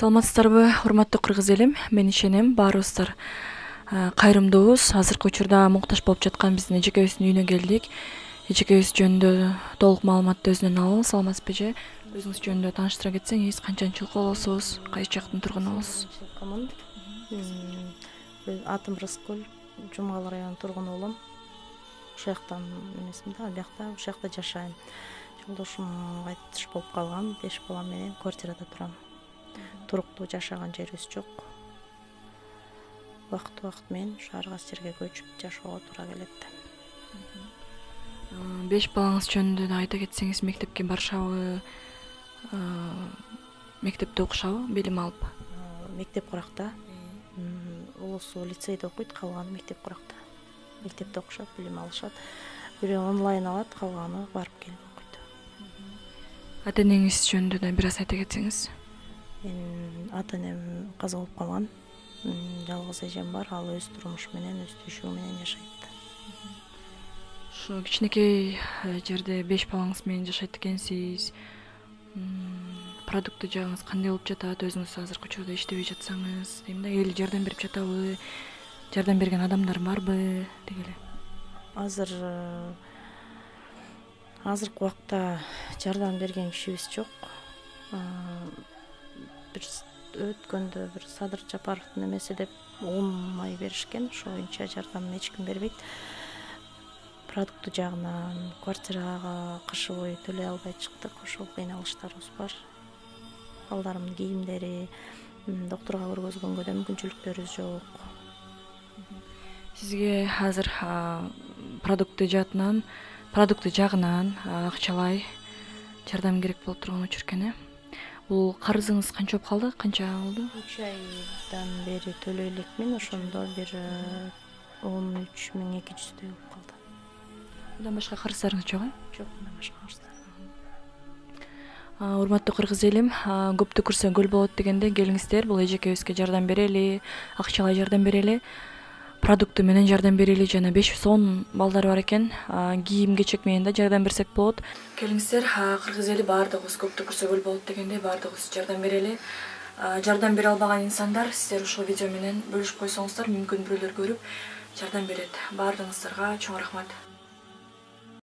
Саламатсыздарбы, урматтуу кыргыз элим? Мен ишенем, баарыбыздар кайрымдуубуз. Азыркы учурда муктаж болуп жаткан биздин эжекебиздин үйүнө келдик. Эжекебиз жөнүндө толук маалыматты өзүнөн алалы. Саламатсызбы эже? Өзүңүз жөнүндө тааныштыра кетсеңиз, канчанчы жыл болосуз, кайсы жактын тургунусуз? Атым Рыскүл, Жумгал районунун тургуну болом. Ошол жактан эмесмин да, биякта ошол жакта жашайм. Жолдошум кайтыш болуп калган, 5 балам менен квартирада турам. Туруктуу жашаган жерибиз жок. Убакыт менен ар кайсы жерге көчүп жашоого туура келет. 5 балаңыз жөнүндө да айта кетсеңиз, мектепке барышабы, мектепте окушабы, билим алып? Мектеп Куракта. Улусу лицейде окуйт, калганы мектеп Куракта. Мектепте окушат, билим алышат. Бирөө онлайн алат, калганы барып келип окуйт. Ата энеңиз жөнүндө да бир аз айта кетсеңиз. Менин ата энем каза болуп калган. Жалгыз эжем бар, ал өз турмушу менен, өз түйшүгү менен жашайт. Ушу кичинекей жерде 5 балаңыз менен жашайт экенсиз. Продукты жагыңыз кандай болуп жатат? Өзүңүз азыркы учурда иштебей жатсаңыз, дейм да, эл жардам берип жатабы? Жардам берген адамдар барбы деги эле? Азыркы убакта жардам берген кишибиз жок. Бир өткөндө бир Садыр Жапаровдун эмеси деп май беришкен, ошо боюнча жардам эч ким бербейт. Продукты жагынан квартирага кышы бою төлөй албай чыктык, ошол кыйналыштарыбыз бар. Балдарымдын кийимдери, доктурга көргөзгөнгө да мүмкүнчүлүктөрүбүз жок. Сизге азыр продукты жагынан акчалай жардам керек болуп турган учур экен, Бул карызыңыз канча болуп калды? Канча болду? 3 айдан бери төлөй элекмин, ошондо бир 13.200 болуп калды. Мындан башка карыздарыңыз жок, Жок, мындан башка карыздар. Урматтуу кыргыз элим, көптү көрсө көл болот дегенде келиңиздер, бул эжекебизге жардам берели, акчалай жардам берели, продукты менен жардам берели, жана 5 сом балдар бар экен, кийим кечек менен да жардам берсек болот. Келиңиздер, кыргыз эли баардыгыбыз көптү көрсө көл болот дегенде баардыгыбыз жардам берели. Жардам бере албаган инсандар, сиздер ушул видео менен бөлүшүп койсоңуздар, мүмкүн бирөөлөр көрүп жардам берет. Баардыгыңыздарга чоң рахмат.